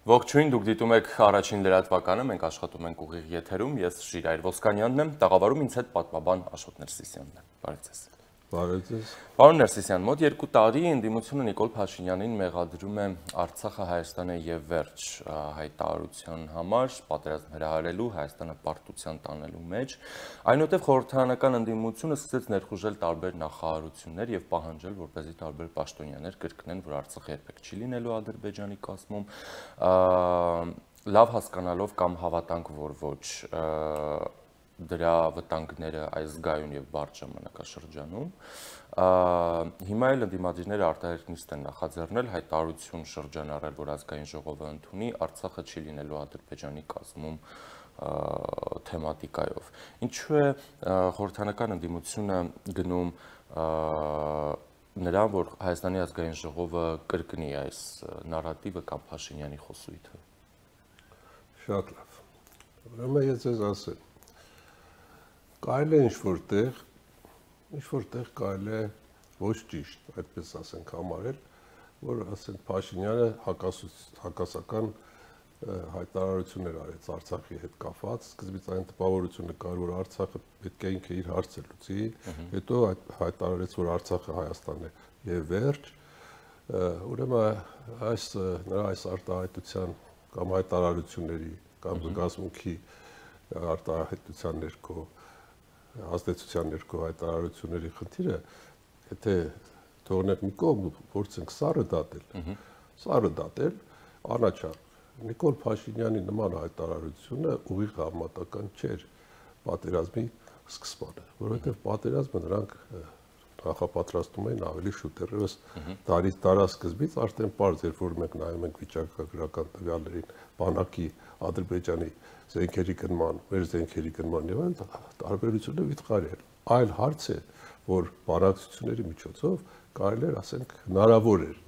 Ողջույն, դուք դիտում եք առաջին լրատվականը, մենք աշխատում ենք ուղիղ եթերում, ես Շիրայր Ոսկանյանն եմ, տաղավարում ինձ հետ պատմաբան Աշոտ Ներսիսյանն է։ Բարև ձեզ։ Բարև ձեզ։ Պարոն Ներսիսյան, մոտ 2 տարի ընդդիմությունը Նիկոլ Փաշինյանին մեղադրում է Արցախը Հայաստանը եւ վերջ հայտարարության համար, պատերազմ հրահարելու, Հայաստանը պարտության տանելու մեջ, այնուհետև խորհրդարանական ընդդիմությունը սկսեց ներխուժել տարբեր նախարարություններ եւ պահանջել, որպեսզի տարբեր պաշտոնյաներ կրկնեն, որ Արցախը երբեք չի լինելու Ադրբեջանի կազմում, լավ հասկանալով կամ հավատանք, որ ոչ դրա վտանգները այս զգայուն եւ բարդ ժամանակաշրջանում հիմա էլ ընդդիմադիրները արտահայտիչներ են նախաձեռնել հայտարարություն շրջանառել, որ ազգային ժողովը ընդունի Արցախը չի լինելու Ադրբեջանի կազմում թեմատիկայով։ Ինչու է խորհրդարանական ընդդիմությունը գնում նրան, որ Հայաստանի ազգային ժողովը կրկնի այս նարատիվը կամ Փաշինյանի խոսույթը։ Շատ լավ։ Ուրեմն ես ձեզ ասեմ, կարելի է ինչ-որտեղ կարելի է ոչ ճիշտ, այդպես ասենք համարել, որ ասենք Փաշինյանը հակասական հայտարարություններ արեց Արցախի հետ կապված, սկզբից այն տպավորությունը կար, որ Արցախը պետք է ինքը իր հարցը լուծի, հետո հայտարարեց, որ Արցախը Հայաստանն է եւ վերջ, ուրեմն նրա այս արտահայտության կամ հայտարարությունների կամ զգացմունքի արտահայտության ներքո ազդեցության ներքո հայտարարությունների խնդիրը, եթե թողնենք մի կողմ, փորձենք սառը դատել, անաչառ Նիկոլ Փաշինյանի նման հայտարարությունը ուղիղ համատական չէր պատերազմի սկզբանը, որովհետև պատերազմը նրանք նախապատրաստում էին ավելի շուտ, դեռևս դարասկզբից արդեն պարզ էր, որ մենք նայում ենք վիճակագրական տվյալներին, բանակի Ադրբեջանի զենքերի գնման, մեր զենքերի գնման եւ այլն տարբերությունը վիթխարի էր։ Այլ հարց է, որ բանակցությունների միջոցով կարելի էր, ասենք, հնարավոր էր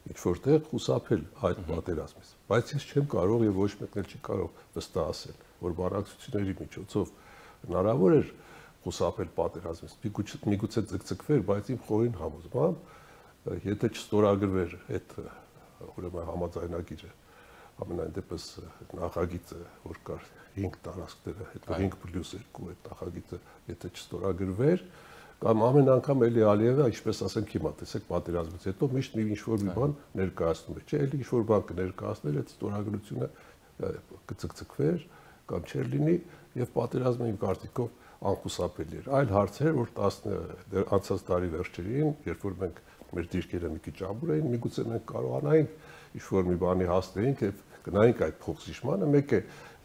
ինչ որտեղ խուսափել այդ պատերազմից, բայց ես չեմ կարող եւ ոչ մեկն էլ չի կարող վստահ ասել, որ բանակցությունների միջոցով հնարավոր էր խուսափել պատերազմից, միգուցե ձգձգվեր, բայց իմ խորին համոզմամբ, եթե չստորագրվեր այդ ուրեմն համաձայնագիրը, ամենայն դեպս նախագիծը, որ կար 5 տարածքները, հետո 5+2 այդ նախագիծը, եթե չստորագրվեր, կամ ամեն անգամ էլի Ալիևը, ինչպես ասենք հիմա, տեսեք պատերազմից հետո միշտ ինչ-որ մի բան ներկայացնում է, չէ, էլի ինչ-որ բան կներկայացներ, այդ ստորագրությունը կձգձգվեր կամ չէր լինի եւ պատերազմը իմ կարծիքով անխուսափելի էր։ Այլ հարց էր, որ անցած տարի վերջերին, երբ որ մենք մեր դիրքերը մի քիչ ամուր էին, միգուցե մենք կարողանայինք ինչ-որ մի բանի հասնեինք եւ գնայինք այդ փոխզիջմանը, մեկ է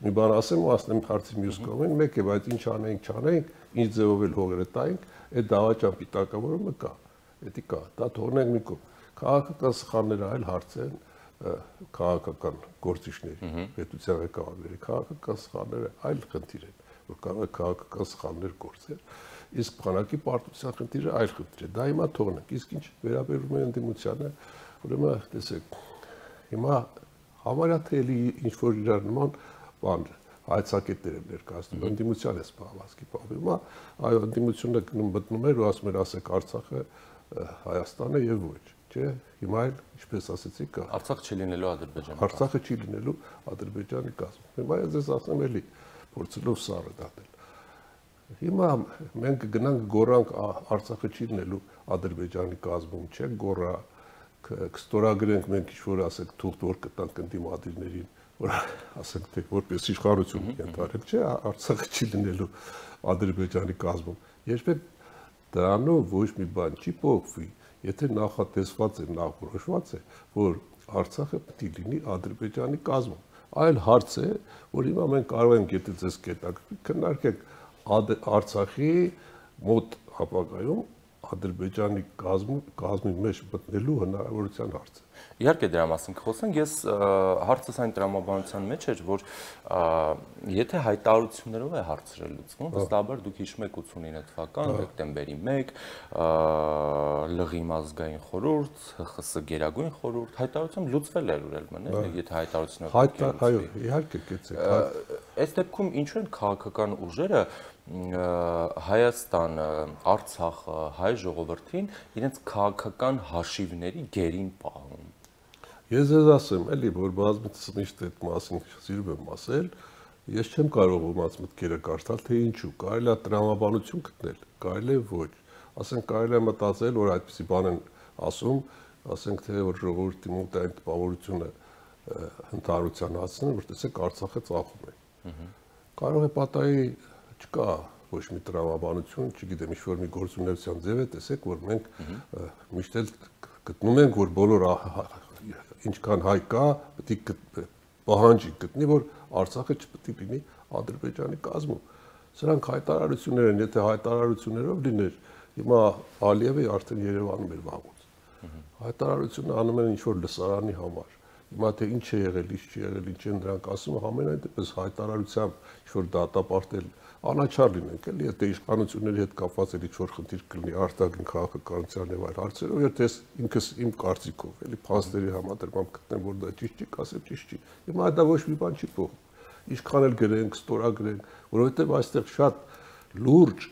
մի բան ասեմ հարցի մյուս կողմին, մեկ է, բայց ինչ անեինք, չանեինք, ինչ ձևով էլ հողերը տայինք, այդ դավաճան պիտակավորումը կա, դա կա, դա թողնենք մի կողմ։ Քաղաքական սխալները այլ հարց են, քաղաքական գործիչների, պետության ղեկավարների քաղաքական սխալները այլ խնդիր են, որ կարող է քաղաքական սխալներ գործել, իսկ բանակի պարտության խնդիրը այլ խնդիր է, դա հիմա թողնենք, իսկ ինչ վերաբերում է ընդդիմությանը, ուրեմն տեսեք, հիմա համարյա թե էլի ինչ-որ իրար նման բան հայցակետներ են ներկայացնում, ընդդիմության է սպահվածքի պահվում, այո, ընդդիմությունը մտնում էր ու ասում էր, ասեք Արցախը Հայաստանը եւ ոչ, չէ, հիմա էլ, ինչպես ասեցիք, Արցախը չի լինելու Ադրբեջանի։ Արցախը չի լինելու Ադրբեջանի կազմում։ Հիմա ես ասեմ էլի, փորձելով սառը դատել։ Հիմա մենք գնանք գորանք Արցախը չի լինելու Ադրբեջանի կազմում, չէ, գորա կստորագրենք մենք ինչ-որ ասենք թուղթ որ կտանք ընդդիմադիրներին, որ ասենք թե որպես իշխանություն ենթարկենք, չէ, Արցախը չի լինելու Ադրբեջանի կազմում։ Երբեք դրանով ոչ մի բան չի փոխվի, եթե նախատեսված է, նախորոշված է, որ Արցախը պետք է լինի Ադրբեջանի կազմում։ Այլ հարց է, որ հիմա մենք կարող ենք, եթե ձեզ կետակցի, քննարկենք Արցախի մոտ ապագայում Ադրբեջանի կազմի մեջ մտնելու հնարավորության հարցը։ Իհարկե դրա մասին կխոսենք, ես հարցս այն տրամաբանության մեջ էր, որ եթե հայտարարություններով է հարցերը լուծվում, վստահաբար դուք հիշում եք 89 թվական դեկտեմբերի 1 լղի ազգային խորհուրդ, ՀԽՍ գերագույն խորհուրդ, հայտարարությամբ լուծվել էր ուրեմն, եթե հայտարարությունները այո, իհարկե կեցեք։ Այս դեպքում ինչու են քաղաքական ուժերը Հայաստանը, Արցախը, հայ ժողովրդին իրենց քաղաքական հաշիվների գերին պահում։ Ես ձեզ ասեմ, էլի, որ բազմիցս միշտ այդ մասին սիրում եմ ասել, ես չեմ կարող ոմանց մտքերը կարդալ, թե ինչու, կարելի է տրամաբանություն գտնել, կարելի է ոչ, ասենք կարելի է մտածել, որ այդպիսի բան են ասում, ասենք թե որ ժողովրդի մոտ այն տպավորությունը ընդհանրության հասցնեն, որ տեսեք Արցախը ծախում է։ Կարող է պատահի չկա ոչ մի տրամաբանություն, չգիտեմ, ինչ-որ մի գործունեության ձև է, տեսեք, որ մենք միշտ էլ գտնում ենք, որ բոլոր ինչքան հայ կա, պետք է պահանջի գտնի, որ Արցախը չպետք է լինի Ադրբեջանի կազմում։ Սրանք հայտարարություններ են, եթե հայտարարություններով լիներ, հիմա Ալիևը արդեն Երևանում էր վաղուց։ Հայտարարությունը անում են ինչ-որ լսարանի համար։ Հիմա թե ինչ է եղել, ինչ չի եղել, ինչ են դրանք ասում, համենայն դեպս հայտարարությամբ ինչ-որ դատապարտել անաչառ լինենք, էլի, եթե իշխանությունների հետ կապված էլ ինչ-որ խնդիր կլինի արտաքին քաղաքականության եւ այլ հարցերով, եթե ինքս իմ կարծիքով, էլի, փաստերի համադրմամբ գտնեմ, որ դա ճիշտ չի, կասեմ ճիշտ չի։ Հիմա դա ոչ մի բան չի փոխում։ Ինչքան էլ գրենք, ստորագրենք, որովհետեւ այստեղ շատ լուրջ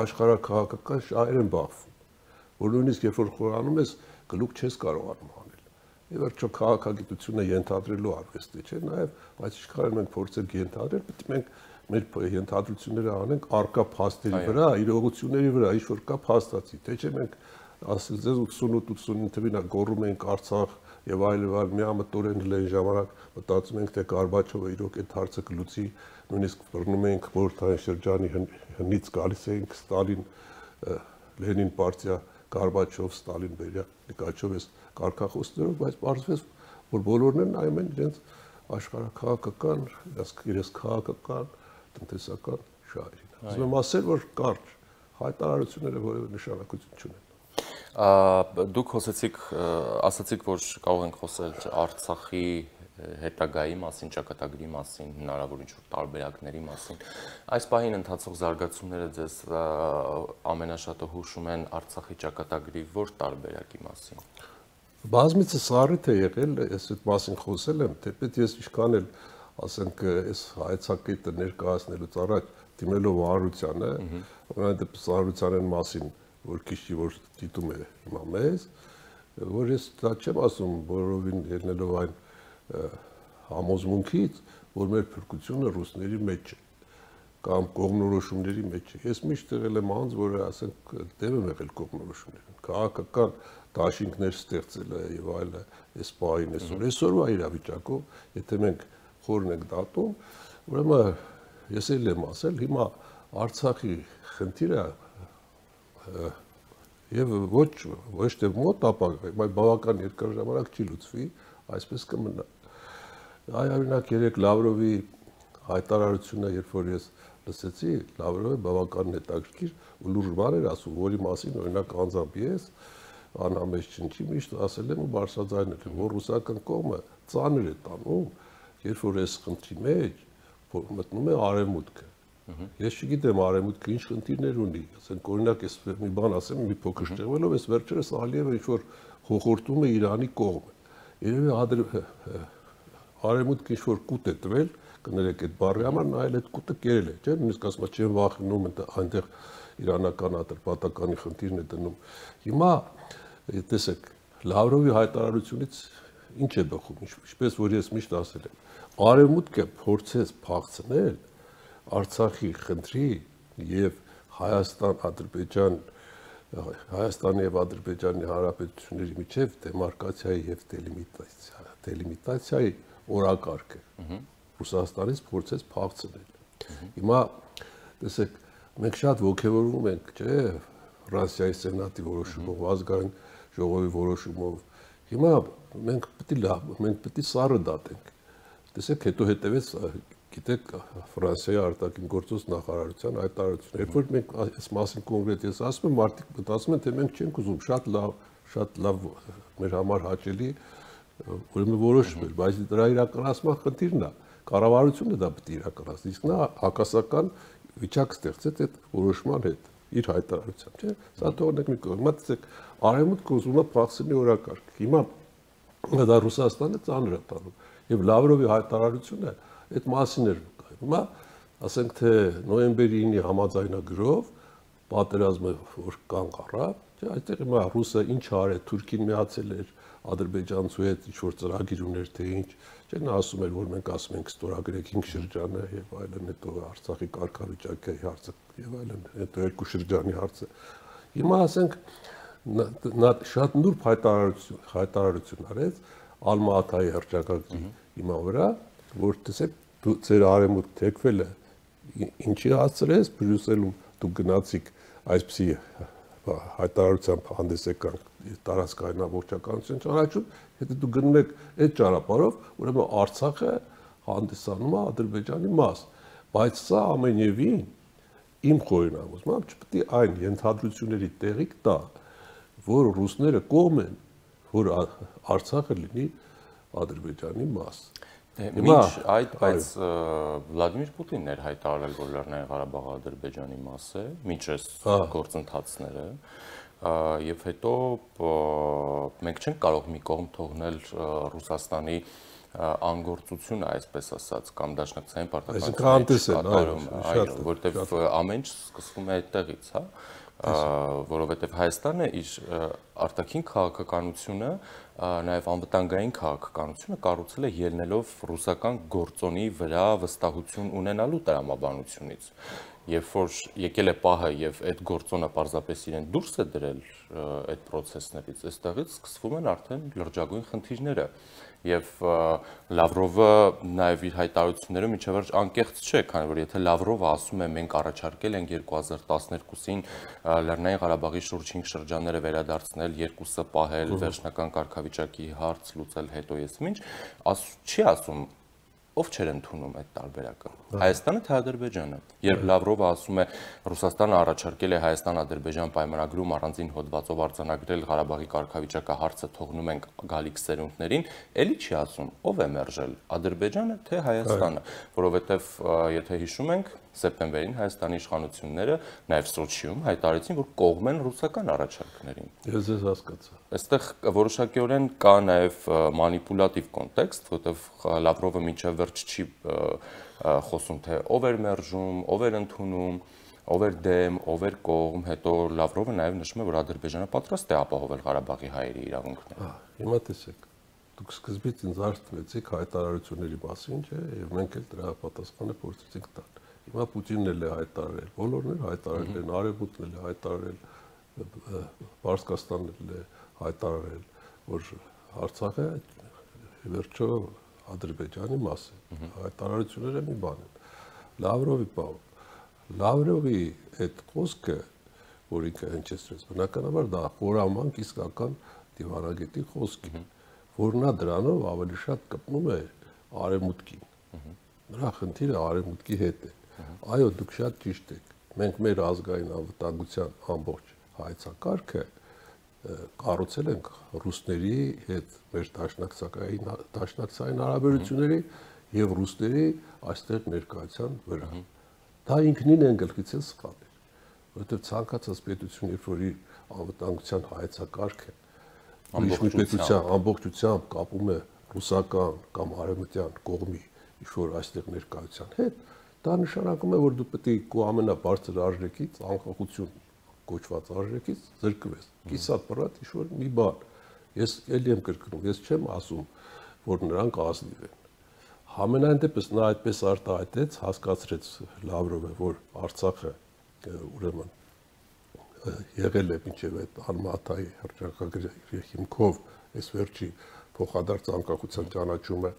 աշխարհակաղակական շահեր են բախվում, որ նույնիսկ երբ որ խորանում ես, գլուխ չես կարողանում անել։ Եվ վերջո քաղաքագիտությունը ենթադրելու արվեստ է, չէ՞, նաեւ, բայց ինչքան մենք փորձենք ենթադրել, պետք է մենք մեր ենթադրությունները անենք արկա փաստերի վրա, իրողությունների վրա, ինչ որ կա փաստացի, թե չէ մենք ասել ձեզ 88-89 թվին գոռում էինք Արցախ եւ այլ միամտորեն լեն ժամանակ մտածում ենք թե Գորբաչովը իրոք այդ հարցը կլուծի, նույնիսկ բռնում էինք Մորթային շրջանի հնից գալիս էինք Ստալին, Լենին պարտիա, Գորբաչով, Ստալին, Բերիա, Լիկաչով էս կարգախոսներով, բայց պարզվեց, որ բոլորն են նայում են իրենց աշխարհակաղակական, իրենց քաղաքական տնտեսական շահերին։ Ուզում եմ ասել, որ կարճ հայտարարությունները որևէ նշանակություն չունեն։ Դուք ասացիք, որ կարող ենք խոսել Արցախի հետագայի մասին, ճակատագրի մասին, հնարավոր ինչ-որ տարբերակների մասին։ Այս պահին ընթացող զարգացումները ձեզ ամենաշատը հուշում են Արցախի ճակատագրի որ տարբերակի մասին։ Բազմիցս առիթ է եղել, ես այդ մասին խոսել եմ, թեպետ ես ինչքան էլ ասենք այս հայեցակետը ներկայացնելուց առաջ դիմելով Արարությանը, որովհետեւ Արարությանն մասին, որ քիչ որ դիտում է հիմա մեզ, որ ես դա չեմ ասում բոլորովին ելնելով այն համոզմունքից, որ մեր փրկությունը ռուսների մեջ է կամ կողմնորոշումների մեջ է։ Ես միշտ եղել եմ անձ, որը ասենք դեմ եմ եղել կողմնորոշումներին, քաղաքական դաշինքներ ստեղծելը եւ այլը, այս պահին այսօրվա իրավիճակով, եթե մենք խորն ենք դատում, ուրեմն ես էլ եմ ասել, հիմա Արցախի խնդիրը եւ ոչ թե մոտ ապագա, բայց բավական երկար ժամանակ չի լուծվի, այսպես կմնա։ Այ օրինակ երեք Լավրովի հայտարարությունը, երբ որ ես լսեցի, Լավրովը բավական հետաքրքիր ու լուրջ բան էր ասում, որի մասին օրինակ անձամբ ես անհամեջ չնչի միշտ ասել եմ ու բարձրաձայնել եմ, որ ռուսական կողմը ծանր է տանում, երբ որ այս խնդրի մեջ մտնում է արևմուտքը։ Ես չգիտեմ արևմուտքը ինչ խնդիրներ ունի, ասենք օրինակ ես մի բան ասեմ, մի փոքր շեղվելով, ես վերջերս Ալիևը ինչ որ խոխորտում է Իրանի կողմը։ Երևի արևմուտքը ինչ որ կուտ է տվել, կներեք այդ բառի համար, նա էլ այդ կուտը կերել է, չէ՞, նույնիսկ ասում եմ, չեմ վախենում այնտեղ իրանական ատրպատականի խնդիրն է դնում։ Հիմա տեսեք, Լավրովի հայտարարությունից ինչ է բխում, ինչպես որ ես միշտ ասել եմ, արևմուտքը փորձեց փախցնել Արցախի խնդրի եւ Հայաստանի եւ Ադրբեջանի հանրապետությունների միջև դեմարկացիայի եւ դելիմիտացիայի օրակարգը Ռուսաստանից փորձեց փախցնել։ Հիմա տեսեք, մենք շատ ողջևորում ենք, չէ՞, Ֆրանսիայի սենատի որոշումով, ազգային ժողովի որոշումով։ Հիմա մենք պետք է սառը դատենք։ Տեսեք, հետո հետևեց, գիտեք, Ֆրանսիայի արտաքին գործոս նախարարության հայտարարությունը։ Երբ որ մենք այս մասին կոնկրետ ես ասում եմ, մարդիկ մտածում են, թե մենք չենք ուզում, շատ լավ մեր համար հաճելի ուրեմն որոշում էր, բայց դրա իրականացման խնդիրն է, կառավարությունը դա պետք է իրականացնի, իսկ նա հակասական վիճակ ստեղծեց այդ որոշման հետ իր հայտարարությամբ, չէ՞։ Սա թողնենք մի կողմ, տեսեք, արևմուտքը ուզում է փախցնի օրակարգ։ Հիմա դա Ռուսաստանը ծանր է տանում եւ Լավրովի հայտարարությունը այդ մասին էր վկայում։ Հիմա ասենք թե նոյեմբերի 9-ի համաձայնագրով պատերազմը որ կանգ առավ, չէ՞, այդտեղ հիմա ռուսը ինչ արել, Թուրքին միացել էր, ադրբեջանցու հետ ինչ-որ ծրագիր ուներ թե ինչ, չէ՞ նա ասում էր, որ մենք ասում ենք ստորագրենք 5 շրջանը եւ այլն, հետո Արցախի կարգավիճակի հարցը եւ այլն, հետո 2 շրջանի հարցը։ Հիմա ասենք նա շատ նուրբ հայտարարություն արեց Ալմա-Աթայի հռչակագրի հիմա վրա, որ տեսեք ձեր արեմուտք թեքվել է, ինչի հասցրեց Բրյուսելում դուք գնացիք այսպիսի հայտարարությամբ հանդես եկան տարածքային ամբողջականություն ճանաչում, եթե դուք գնում եք այդ ճանապարհով, ուրեմն Արցախը հանդիսանում է Ադրբեջանի մաս, բայց սա ամենևին իմ խորհրդանոցում չպետք է այն ենթադրությունների տեղիք տա, որ ռուսները կողմ են, որ Արցախը լինի Ադրբեջանի մաս։ Մինչ այդ, բայց Վլադիմիր Պուտինն էր հայտարարել, որ Լեռնային Ղարաբաղը Ադրբեջանի մաս է, մինչ այս գործընթացները, եւ հետո մենք չենք կարող մի կողմ թողնել Ռուսաստանի անգործությունը, այսպես ասած, կամ դաշնակցային պարտականությունները, որտեղ ամեն ինչ սկսվում է այդտեղից, հա, որովհետև Հայաստանը իր արտաքին քաղաքականությունը, նաև անվտանգային քաղաքականությունը կառուցել է ելնելով ռուսական գործոնի վրա վստահություն ունենալու տրամաբանությունից։ Երբ որ եկել է պահը եւ այդ գործոնը պարզապես իրեն դուրս է դրել այդ process-ներից, այստեղից սկսվում են արդեն լրջագույն խնդիրները։ Եվ Լավրովը նաև իր հայտարարություններում մինչև վերջ անկեղծ չէ, քանի որ եթե Լավրովը ասում է մենք առաջարկել ենք 2012-ին Լեռնային Ղարաբաղի շուրջ 5 շրջանները վերադարձնել, երկուսը պահել, վերջնական կարգավիճակի հարց լուծել, հետո ես ինչ, չի ասում ով չէր ընդունում այդ տարբերակը, Հայաստանը թե Ադրբեջանը։ Երբ Լավրովը ասում է Ռուսաստանը առաջարկել է Հայաստան-Ադրբեջան պայմանագրում առանձին հոդվածով արձանագրել Ղարաբաղի կարգավիճակը հարցը թողնում ենք գալիք սերունդներին, էլի չի ասում ով է մերժել, Ադրբեջանը թե Հայաստանը, որովհետև եթե հիշում ենք սեպտեմբերին Հայաստանի իշխանությունները նաև Սոչիում հայտարարեցին, որ կողմ են ռուսական առաջարկներին։ Ես հասկացա։ Այստեղ որոշակիորեն կա նաև մանիպուլատիվ կոնտեքստ, որովհետև Լավրովը մինչև վերջ չի խոսում թե ով էր մերժում, ով էր ընդունում, ով էր դեմ, ով էր կողմ, հետո Լավրովը նաև նշում է, որ Ադրբեջանը պատրաստ է ապահովել Ղարաբաղի հայերի իրավունքները։ Հիմա տեսեք, դուք սկզբից ինձ արտվեցիք հայտարարությունների մասին, չէ՞, եւ մենք էլ դրա պատասխանը փորձեցինք տալ։ Հիմա Պուտինն էլ է հայտարարել, բոլորն էլ հայտարարել են, Արևմուտքն էլ է հայտարարել, Պարսկաստանն էլ է հայտարարել, որ Արցախը վերջո Ադրբեջանի մաս է։ Հայտարարությունները մի բան են։ Լավրովի այդ խոսքը, որ ինքը հնչեցրեց, բնականաբար դա խորամանկ իսկական դիվանագետի խոսք է, որ նա դրանով ավելի շատ կպնում է Արևմուտքին։ Նրա խնդիրը Արևմուտքի հետ է։ Այո, դուք շատ ճիշտ եք։ Մենք մեր ազգային անվտանգության ամբողջ հայեցակարգը կառուցել ենք ռուսների հետ մեր դաշնակցային հարաբերությունների եւ ռուսների այստեղ ներկայության վրա։ Դա ինքնին են գլխից է սխալ էր, որովհետեւ ցանկացած պետություն, երբ որ իր անվտանգության հայեցակարգը ամբողջությամբ կապում է ռուսական կամ արևմտյան կողմի ինչ-որ այստեղ ներկայության հետ, դա նշանակում է, որ դու պետք է քո ամենաբարձր արժեքից, անկախություն կոչված արժեքից զրկվես։ Կիսատ պրատ ինչ-որ մի բան։ Ես ելի եմ կրկնում, ես չեմ ասում, որ նրանք ազնիվ են։ Համենայն դեպս նա այդպես արտահայտեց, հասկացրեց Լավրովը, որ Արցախը ուրեմն եղել է մինչև այդ Ալմա-Աթայի հռչակագրի հիմքով այս վերջի փոխադարձ անկախության ճանաչումը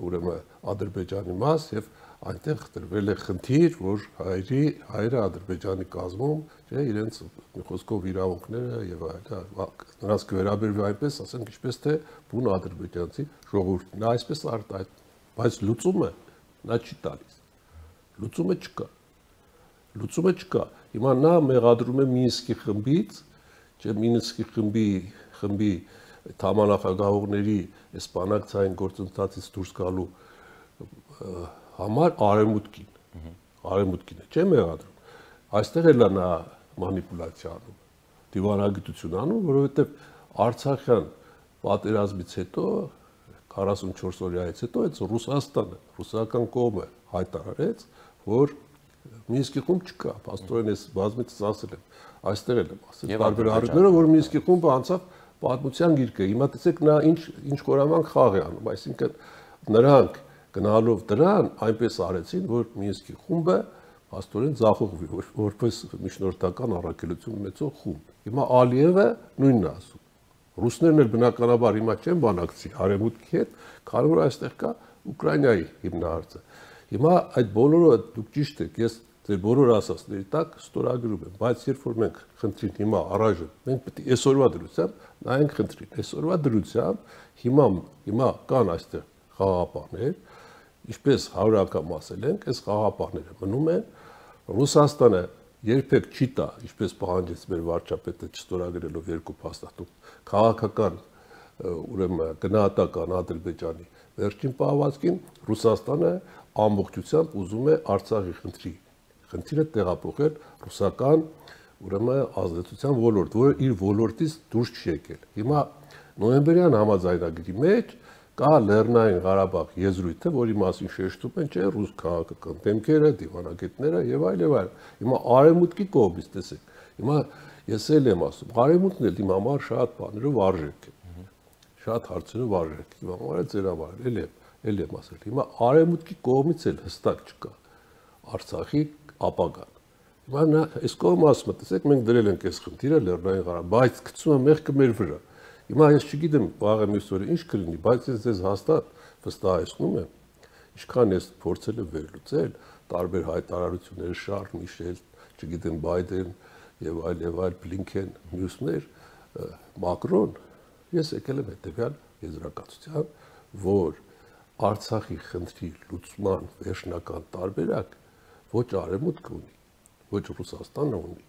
ուրեմն Ադրբեջանի մաս եւ այնտեղ դրվել է խնդիր, որ հայերը Ադրբեջանի կազմում, չէ, իրենց խոսքով իրավունքները եւ նրանց կվերաբերվի այնպես, ասենք, ինչպես թե բուն ադրբեջանցի ժողովուրդն։ Նա այսպես արտահայտ, բայց լուծումը նա չի տալիս։ Լուծումը չկա։ Հիմա նա մեղադրում է Մինսկի խմբից, չէ, Մինսկի խմբի թամանախագահողների այս բանակցային գործընթացից դուրս գալու համար արևմուտքին է, չէ՞ մեղադրում։ Այստեղ էլ նա մանիպուլյացիա անում, դիվանագիտություն անում, որովհետև Արցախյան պատերազմից հետո 44 օրյայից հետո այդ Ռուսաստանը, ռուսական կողմը հայտարարեց, որ Մինսկի խումբ չկա, աստորեն ես բազմիցս ասել եմ, այստեղ էլ եմ ասել տարբեր առիթներով, որ Մինսկի խումբը անցավ պատմության գիրք է։ Հիմա տեսեք նա ինչ խորամանկ խաղ է անում, այսինքն նրանք գնալով դրան այնպես արեցին, որ Մինսկի խումբը աստորեն ձախողվի, որպես միջնորդական առաքելություն ունեցող խումբ։ Հիմա Ալիևը նույնն է ասում։ Ռուսներն էլ բնականաբար հիմա չեն բանակցի արևմուտքի հետ, քանի որ այստեղ կա Ուկրաինայի հիմնահարցը։ Հիմա այդ բոլորը դուք ճիշտ եք, ես ձեր բոլոր ասածների տակ ստորագրում եմ, բայց երբ որ մենք խնդրին հիմա առայժմ, մենք պետք է այսօրվա դրությամբ նայենք խնդրին։ Այսօրվա դրությամբ հիմա կան այստեղ խաղաղապահներ, ինչպես 100 անգամ ասել ենք, այս խաղաղապահները մնում են, Ռուսաստանը երբեք չի տա, ինչպես պահանջեց մեր վարչապետը չստորագրելով երկու փաստաթուղթ, քաղաքական ուրեմն գնահատական Ադրբեջանի վերջին պահվածքին Ռուսաստանը ամբողջությամբ ուզում է Արցախի խնդիրը տեղափոխել ռուսական ուրեմն ազդեցության ոլորտ, որը իր ոլորտից դուրս չի եկել։ Հիմա նոյեմբերյան համաձայնագրի մեջ կա Լեռնային Ղարաբաղ եզրույթը, որի մասին շեշտում են չէ ռուս քաղաքական դեմքերը, դիվանագետները եւ այլ եւ այլ։ Հիմա արևմուտքի կողմից տեսեք։ Հիմա ես էլ եմ ասում, արևմուտքն էլ իմ համար շատ բաներով արժեք է։ Շատ հարցերով արժեք։ Իմ համար է ձեր համար էլ եմ ասել։ Հիմա արևմուտքի կողմից էլ հստակ չկա Արցախի ապագան։ Հիմա նա այս կողմը ասում է, տեսեք, մենք դրել ենք այս խնդիրը Լեռնային Ղարաբաղ, բայց գցում է մեղքը մեր վրա։ Հիմա ես չգիտեմ վաղը մյուս օրը ինչ կլինի, բայց ես ձեզ հաստատ վստահեցնում եմ, ինչքան ես փորձել եմ վերլուծել, տարբեր հայտարարություններ, Շարլ Միշել, չգիտեմ Բայդեն եւ այլ Բլինքեն, մյուսներ, Մակրոն, ես եկել եմ հետեւյալ եզրակացության, որ Արցախի խնդրի լուծման վերջնական տարբերակ ոչ արևմուտքը ունի, ոչ Ռուսաստանը ունի։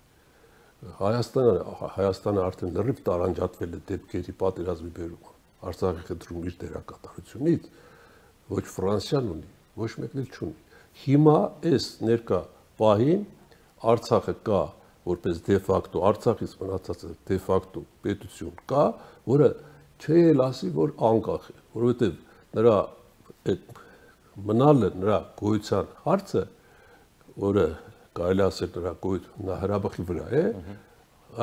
Հայաստանը արդեն լրիվ տարանջատվել է դեպքերի պատերազմի բերումը Արցախի խնդրում իր դերակատարությունից, ոչ Ֆրանսիան ունի, ոչ մեկն էլ չունի։ Հիմա այս ներկա պահին Արցախը կա որպես դե ֆակտո, Արցախից մնացած դե ֆակտո պետություն կա, որը չի էլ ասի, որ անկախ է, որովհետև նրա այդ մնալը նրա գոյության հարցը, որը կարելի ասել նրա գոյությունը հրաբխի վրա է,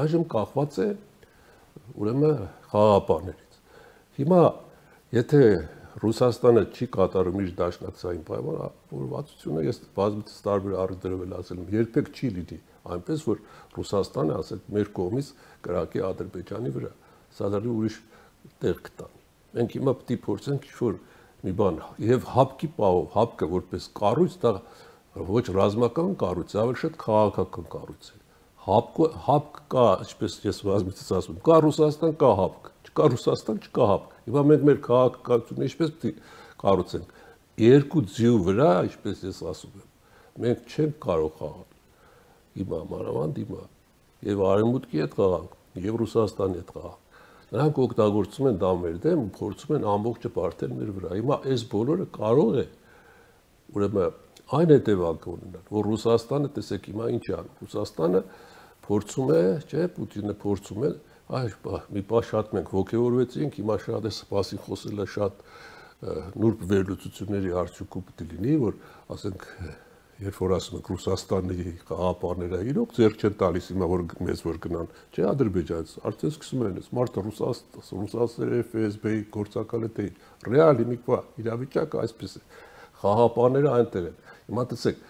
այժմ կախված է ուրեմն խաղաղապահներից։ Հիմա եթե Ռուսաստանը չի կատարում իր դաշնակցային պայմանավորվածությունը, ես բազմիցս տարբեր առիթներով էլ ասել եմ, երբեք չի լինի այնպես, որ Ռուսաստանը ասել մեր կողմից կրակի Ադրբեջանի վրա, սա դեռ ուրիշ տեղ կտանի։ Մենք հիմա պետք է փորձենք ինչ-որ մի բան եւ հապկի պահով, հապկը որպես կառույց, դա ոչ ռազմական կառույց, ավելի շատ քաղաքական կառույց է։ Հապկ կա, ինչպես ես բազմիցս ասում եմ, կա Ռուսաստան, կա հապկ, չկա Ռուսաստան, չկա հապկ։ Հիմա մենք մեր քաղաքականությունը ինչպես պետք է կառուցենք։ Երկու ձյու վրա, ինչպես ես ասում եմ, մենք չենք կարող խաղալ։ Հիմա մանավանդ հիմա եւ արևմուտքի հետ խաղանք, եւ Ռուսաստանի հետ խաղանք։ Նրանք օգտագործում են դա մեր դեմ ու փորձում են ամբողջը բարթել մեր վրա։ Հիմա այս բոլորը կարող է ուրեմն այն հետևանքը ունենալ, որ Ռուսաստանը, տեսեք հիմա ինչ է անում։ Ռուսաստանը փորձում է, չէ, Պուտինը փորձում է, մի պահ շատ մենք ոգևորվեցինք, հիմա շատ է սպասին խոսելը շատ նուրբ վերլուծությունների արդյունքում պետք է լինի, որ ասենք երբ որ ասում ենք Ռուսաստանի խաղաղապահները իրոք ձեռք չեն տալիս հիմա որ մեզ որ գնան, չէ, Ադրբեջանից, արդեն սկսում են այս մարդը Ռուսաստանի ՖՍԲ-ի գործակալը թե ռեալ հիմիկվա իրավիճակը այսպես է։ Խաղաղապահները այնտեղ են։ Հիմա տեսեք,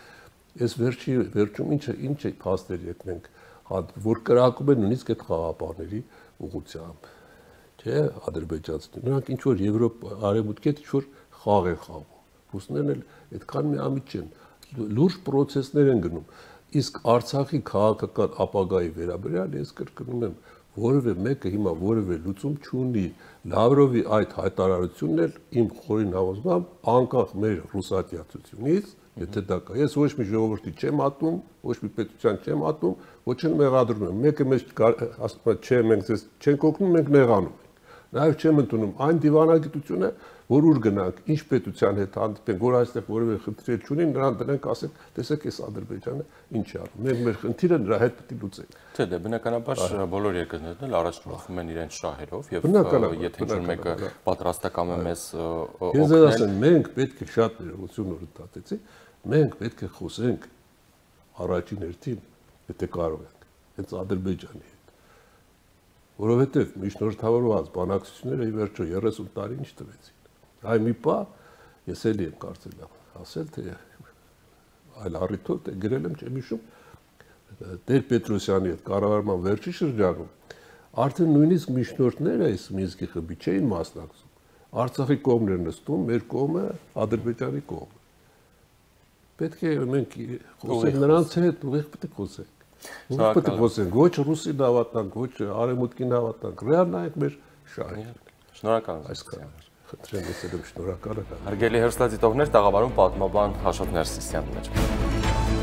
այս վերջում ինչ է փաստերի հետ մենք որ կրակում են նույնիսկ այդ խաղաղապահների ուղղությամբ, չէ, ադրբեջանցիները, նրանք ինչ որ Եվրոպա, արևմուտքի հետ ինչ որ խաղ են խաղում։ Ռուսներն էլ այդքան միամիտ չեն, լուրջ պրոցեսներ են գնում։ Իսկ Արցախի քաղաքական ապագայի վերաբերյալ ես կրկնում եմ, որևէ մեկը հիմա որևէ լուծում չունի։ Լավրովի այդ հայտարարությունն էլ իմ խորին համոզմամբ անկախ մեր ռուսատիացությունից, եթե դա կա, ես ոչ մի ժողովրդի չեմ ատում, ոչ մի պետության չեմ ատում, ոչ էլ մեղադրում եմ։ Մեկը մեզ ասում է, չէ, մենք ձեզ չենք օգնում, մենք նեղանում ենք։ Նաև չեմ ընդունում այն դիվանագիտությունը, որ ուր գնանք, ինչ պետության հետ հանդիպենք, որ այստեղ որևէ խնդիր չունի, նրան դրանք ասենք, տեսեք, այս Ադրբեջանը ինչ է անում։ Մենք մեր խնդիրը նրա հետ պետք է լուծենք։ Թե դե բնականաբար բոլոր երկրներն էլ առաջնորդվում են իրենց շահերով եւ եթե ինչ-որ մեկը պատրաստական է մեզ օգնել։ Ես ձեզ ասեմ, մենք պետք է շատ ներողություն օրդատեցի, մենք պետք է խոսենք առաջին հերթին, եթե կարող ենք, հենց Ադրբեջանի հետ։ որովհետև միջնորդավորված բանակցությունները ի վերջո 30 տարի ինչ տվեցին։ Այ մի պահ ես էլի եմ կարծել ասել, թե այլ առիթով թե գրել եմ, չեմ հիշում, Տեր Պետրոսյանի հետ կառավարման վերջի շրջանում արդեն նույնիսկ միջնորդները այս Մինսկի խմբի չէին մասնակցում։ Արցախի կողմն էր նստում, մեր կողմը Ադրբեջանի կողմը։ Պետք է մենք խոսենք նրանց հետ, ուղիղ պետք է խոսենք։ Ուղիղ պետք է խոսենք, ոչ ռուսին հավատանք, ոչ արևմուտքին հավատանք, ռեալ նայենք մեր շահին։ Շնորհակալ եմ։ Այսքան։ Խնդրեմ, ես եմ շնորհակալ եմ։ Հարգելի հեռուստադիտողներ, տաղավարում պատմաբան Աշոտ Ներսիսյանն էր։